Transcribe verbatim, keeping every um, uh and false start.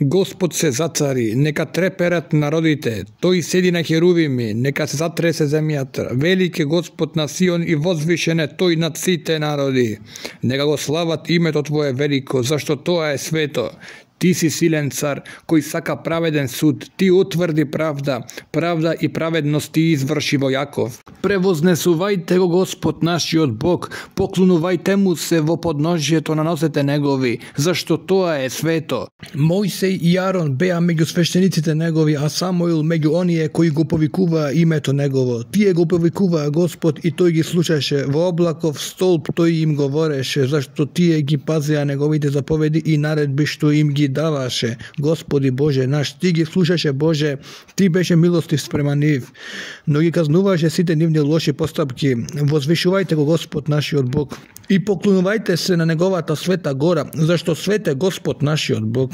Господ се зацари, нека треперат народите, тој седи на херувими, нека се затресе земјата. Велик е Господ на Сион и возвишен е тој над сите народи. Нека го слават името Твое велико, зашто тоа е свето. Ти си силен цар, кој сака праведен суд, ти утврди правда, правда и праведност ти изврши во Јаков. Превознесувајте го Господ нашиот Бог, поклонувајте му се во подножјето на носете негови, зашто тоа е свето. Мојсей и Арон беа меѓу свештениците негови, а Самуил меѓу оние кои го повикуваа името негово. Тие го повикуваа Господ и тој ги слушаше, во облаков столб тој им говореше, зашто тие ги пазеа неговите заповеди и наредби што им ги даваше. Господи Боже наш, ти ги слушаше Боже, ти беше милостив спрема нив, но ги казнуваше сите нивни лоши постапки. Возвишувајте го Господ нашиот Бог и поклонувајте се на неговата света гора, зашто свет е Господ нашиот Бог.